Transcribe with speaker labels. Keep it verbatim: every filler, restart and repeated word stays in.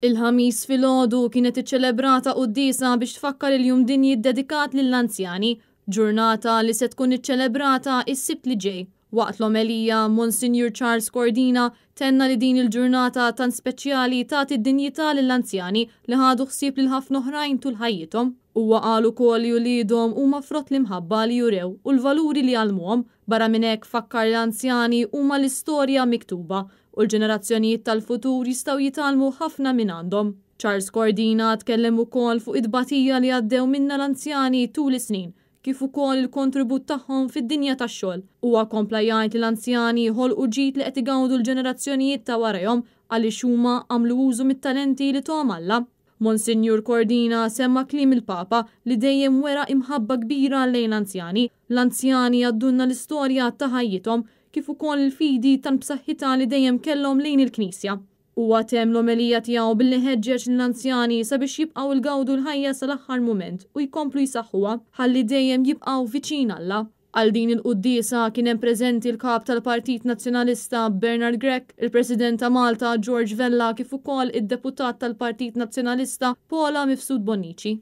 Speaker 1: Il-Ħamis filgħodu kienet iċċelebrata quddiesa biex tfakkar il-Jum Dinji ddedikat lill-anzjani, ġurnata li se tkun iċċelebrata s-Sibt li ġej. Waqt l-omelija, Monsinjur Charles Cordina tenna li din il-ġurnata tant speċjali tagħti d-dinjità lill-anzjani li ħadu ħsieb lil ħafna oħrajn tul ħajjithom. Huwa qal ukoll li uliedhom huma frott l-imħabba li jurew u l-valuri li għallmuhom. Barra minn hekk, fakkar li l-anzjani huma l-istorja miktuba u l-ġenerazzjonijiet tal-futur jistgħu jitgħallmu ħafna minn għandhom. Charles Cordina tkellem ukoll fuq it-tbatija li għaddew minnha l-anzjani tul is-snin, kif ukoll il-kontribut tagħhom fid-dinja tax-xogħol. Huwa kompla jgħid li l-anzjani ħolqu ġid li qed igawdu l-ġenerazzjonijiet ta' warajhom għaliex huma għamlu użu mit-talenti li tahom Alla. Monsinjur Cordina semma kliem il-Papa li dejjem wera imħabba kbira lejn l-anzjani. L-anzjani għaddulna l-istorja ta' ħajjithom, kif ukoll il-fidi tant b'saħħitha li dejjem kellhom lejn il-Knisja. Huwa temm l-omelija tiegħu billi ħeġġeġ lill-anzjani sabiex jibqgħu jgawdu l-ħajja sal-aħħar mument u jkomplu jsaħħuha ħalli dejjem jibqgħu viċin Alla. Għal din il-quddiesa kien hemm preżenti l-kap tal-Partit Nazzjonalista Bernard Grech, il-President ta' Malta George Vella, kif ukoll id-deputat tal-Partit Nazzjonalista Paula Mifsud Bonnici.